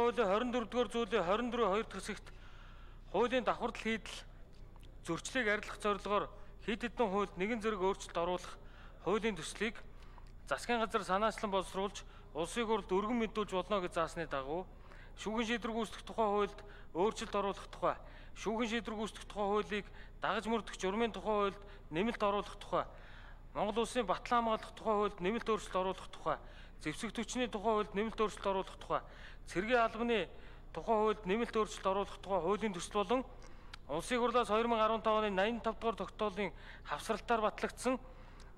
хуулийн 24-р зүйлийн 24-2 дахь хэсэгт хуулийн давхардал хийдэл зөрчлийг арилгах зорилгоор хэд хэдэн хуульд нэгэн зэрэг өөрчлөлт оруулах хуулийн төслийг засгийн газар санаачлан боловсруулж улсын хурлд өргөн мэдүүлж болно гэж заасны дагуу шүүхийн шийдвэр гүйцэтгэх тухай хуульд өөрчлөлт оруулах тухай, шүүхийн шийдвэр гүйцэтгэх тухай хуулийг дагаж мөрдөх журмын тухай хуульд нэмэлт оруулах тухай, Монгол Улсын батлан хамгаалах тухай хуульд нэмэлт өөрчлөлт оруулах тухай, зэвсэг түвшний тухай хуульд нэмэлт өөрчлөлт оруулах тухай, цэргийн албаны тухай хуульд нэмэлт өөрчлөлт оруулах тухай хуулийн төсөл болон Улсын хурлаас 2015 оны 85 дугаар тогтоолын хавсралтаар батлагдсан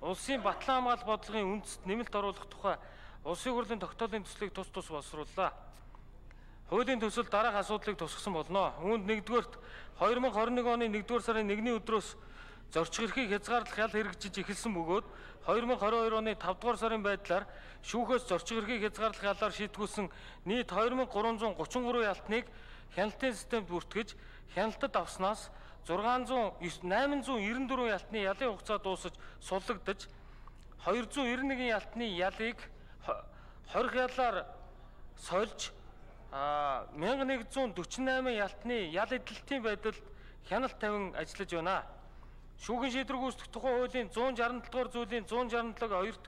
Улсын батлан хамгаалах бодлогын үндэст нэмэлт оруулах тухай Улсын хурлын тогтоолын төслийг тус боловсрууллаа. Хуулийн төсөл дараах асуудлыг тусгасан болно. Үүнд 1-р 2021 оны 1-р сарын 1-ний өдрөөс зорчих эрхийг хязгаарлах ял хэрэгжиж эхэлсэн бөгөөд 2022 оны 5-р сарын байдлаар шүүхээс зорчих эрхийг хязгаарлах ялаар шийтгүүлсэн нийт 2333 ялтныг хяналтын системд бүртгэж хяналтад авснаас 894 ялтны ялын хугацаа дуусаж суллагдаж 291 ялтны ялыг 20 ялаар сольж 1148 ялтны ял эдэлтийн байдалд хяналт тавин ажиллаж байна. Шүүхийн шийдвэр гүйцэтгэх тухай хуулийн 167 дугаар зүйлийн 167-2-т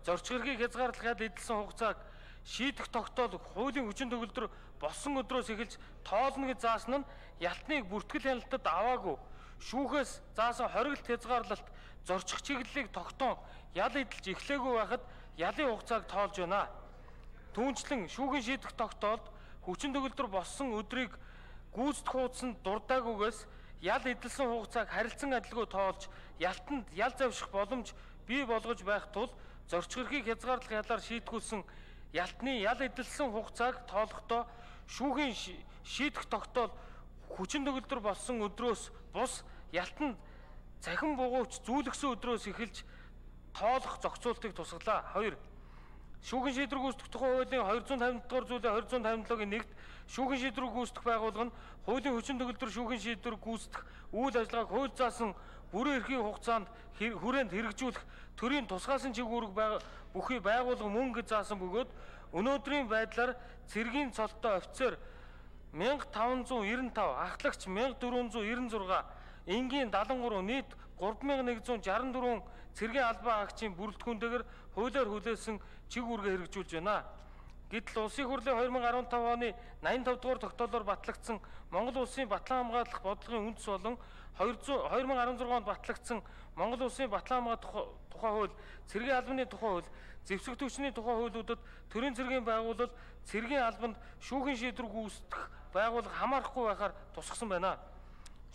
зорчих эрхийг хязгаарлах ял эдэлсэн хугацааг шийдэх тогтоол хуулийн хүчин төгөлдөр болсон өдрөөс эхэлж тоолно гэж заасан нь ялтныг бүртгэл хяналтад аваагүй шүүхээс заасан хориглолт хязгаарлалт зорчих чиглэлийг тогтоон ял эдэлж эхлээгүй байхад ялын хугацааг тоолж байна. Түүнчлэн шүүхийн шийдэх тогтоолд хүчин төгөлдөр болсон өдрийг гүйцэтгэх хуудсанд дурдаагүйгээс ял эдэлсэн хугацааг харилцан адилгүй тоолж ялтанд ял завших боломж бий болгож байх тул зорчих эрхийг хязгаарлах ялаар шийтгүүлсэн ялтны ял эдэлсэн хугацааг тоолохдоо шүүхийн шийдэх тогтоол хүчин төгөлдөр болсон өдрөөс бус ялтанд цахим бугуйч зүүлгсэн өдрөөс эхэлж тоолох зохицуултыг тусгалаа. 2. Шүүхийн шийдвэр гүйцэтгэх тухай хуулийн 250 дугаар зүйлийн 257-гийн 1-т шүүхийн шийдвэр гүйцэтгэх байгууллага нь хуулийн хүчин төгөлдөр шүүхийн шийдвэр гүйцэтгэх үйл ажиллагааг хууль заасан бүрэн эрхийн хугацаанд хүрээнд хэрэгжүүлэх төрийн тусгаасан чиглэл бүхий байгууллага мөн гэж заасан бөгөөд өнөөдрийн байдлаар цэргийн цолтой офицер 1595, ахлагч 1496, энгийн 73, нийт 3164 цэргийн албан агчийн бүрэлдэхүүнтэйгээр хуулиар хүлээсэн чиг үүргээ хэрэгжүүлж байна. Гэтэл Улсын хурлын 2015 оны 85 дугаар тогтоолоор батлагдсан Монгол Улсын батлан хамгаалах бодлогын үндэс болон 2016 онд батлагдсан Монгол Улсын батлан хамгаалах тухай хууль, цэргийн албаны тухай хууль, зэвсэг түвшний тухай хуулиудад төрийн цэргийн байгууллал цэргийн албанд шүүхийн шийдвэр гүйцэтгэх байгууллага хамаарахгүй байхаар тусгасан байна.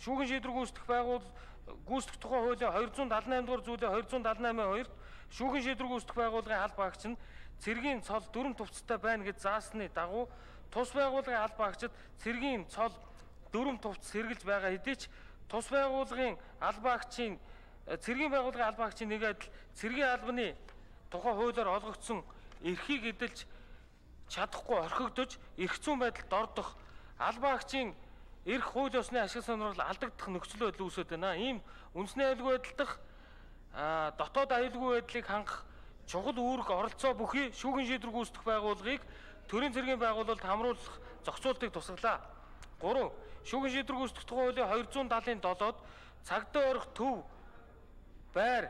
Шүүхийн шийдвэр гүйцэтгэх тухай хуулийн 278 дугаар зүйлийн 278-2-т шүүхийн шийдвэр гүйцэтгэх байгууллагын албан агч нь цэргийн цол дүрм тувцтай байна гэж заасны дагуу тус байгууллагын албан агчид цэргийн цол дүрм тувц сэргэлж байгаа хэдий ч тус байгууллагын албан агчийн цэргийн байгууллагын албан агчийн нэг адил цэргийн албаны тухай хуулиар олгогдсон эрхийг эдэлж чадахгүй орхигдож эрх зүйн байдалд ордох албан агчийн эрх хууль ёсны ашиг сонирхол алдагдах нөхцөл байдал үүсэж байна. Ийм үндэсний аюулгүй байдал дах дотоод аюулгүй байдлыг хангах чухал үүрэг оролцоо бүхий шүүхийн шийдвэр гүйцэтгэх байгууллагыг төрийн цэргийн байгууллагад хамруулах зохицуултыг тусгалаа. 3. Шүүхийн шийдвэр гүйцэтгэх тухай хуулийн 270-7-д цагдаа орох төв байр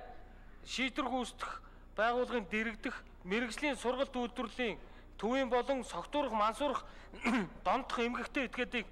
шийдвэр гүйцэтгэх байгууллагын дэргэдэх мэргэжлийн сургалт үйлдвэрлэлийн төвийн болон согтуурах мансуурах донтох эмгэгтэй этгээдийг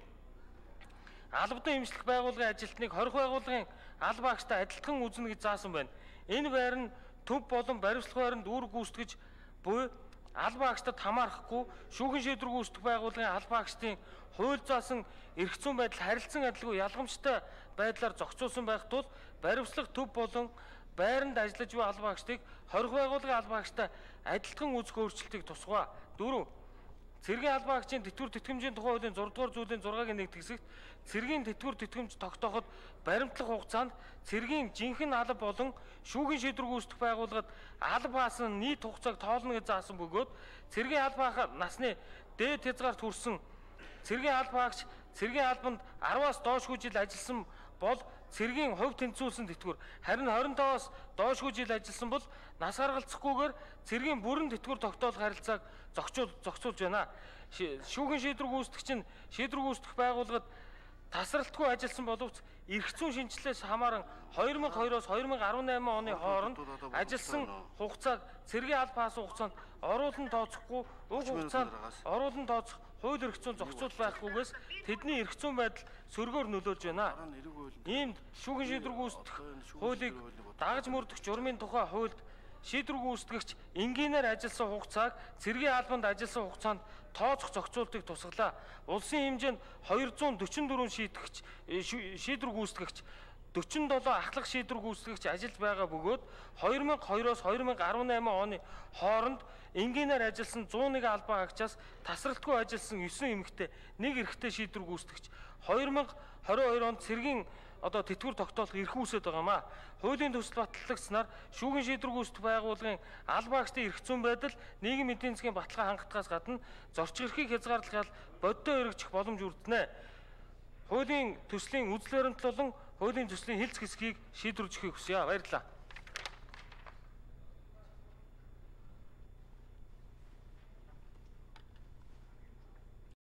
албадан эмчлэх байгууллагын ажилтныг хорих байгууллагын албан агчтай адилтхан үзнэ гэж заасан байна. Энэ байр нь төв болон баримтлах байранд үүрэг гүйцэтгэж буй албан агчдад хамаарахгүй шүүхийн шийдвэр гүйцэтгэх байгууллагын албан агчдын хууль заасан эрх зүйн байдал харилцан адилгүй ялгамжтай байдлаар зохицуулсан байх тул баримтлах төв болон байранд ажиллаж буй албан агчдыг хорих байгууллагын албан агчтай адилтхан үзэх өөрчлөлтийг тусгая. 4. Цэргийн албан агчийн тэтгэвэр тэтгэмжийн тухай хуулийн 6 дугаар зүйлийн 6-гийн 1 хэсэгт цэргийн тэтгэвэр тэтгэмж тогтооход баримтлах хугацаанд цэргийн жинхэнэ алба болон шүүхийн шийдвэр гүйцэтгэх байгууллагад алба хаасан нийт хугацааг тоолно гэж заасан бөгөөд цэргийн албаа насны дээд хязгаарт хүрсэн цэргийн албан агч цэргийн албанд 10-аас доошгүй жил ажилласан бол цэргийн хувь тэнцвүүлсэн тэтгэвэр харин 25-аас доошгүй жил ажилласан бол нас гаргалцахгүйгээр цэргийн бүрэн тэтгэвэр тогтоолох харилцааг зохицуулж байна. шүүхийн шийдвэр гүйцэтгэгч нь шийдвэр гүйцэтгэх байгууллагад тасралтгүй ажилласан боловч эрх зүйн шинжилгээс хамааран 2002-оос 2018 оны хооронд ажилласан хугацааг цэргийн аль пас хугацаанд оруулан тооцохгүй, уг хугацаанд оруулан тооцох хууль эрх зүйн зохицуул байхгүйгээс тэдний эрх зүйн байдал сөргөөр нөлөөлж байна. Иймд шүүхийн шийдвэр гүйцэтгэх хуулийг дагаж мөрдөх журмын тухай хуульд шийдвэр гүйцэтгэгч энгийнээр ажилласан хугацааг цэргийн албанд ажилласан хугацаанд тооцох зохицуултыг тусгалаа. Улсын хэмжээнд 244 шийдвэр гүйцэтгэгч 47 ахлах шийдвэр гүйцэтгэгч ажиллаж байгаа бөгөөд 2002-оос 2018 оны хооронд энгийнээр ажилласан 101 албан хаагчаас тасралтгүй ажилласан 9 эмэгтэй, 1 эрэгтэй шийдвэр гүйцэтгэгч 2022 онд цэргийн тэтгэвэр тогтоолох эрх үүсэж байгаамаа. Хуулийн төсөл батлагдсанаар шүүхийн шийдвэр гүйцэтгэх байгууллагын албан хаагчдын эрх зүйн байдал нийгмийн эдийн засгийн баталгаа хангалтгаас гадна зорчих эрхийг хязгаарлах бодиттой хэрэгжих боломж үрдэнэ. Хуулийн төслийн үзэл баримтлуулан хуулийн төслийн хэлц хэсгийг шийдвэрлэж өгөхийг хүсье. Баярлалаа.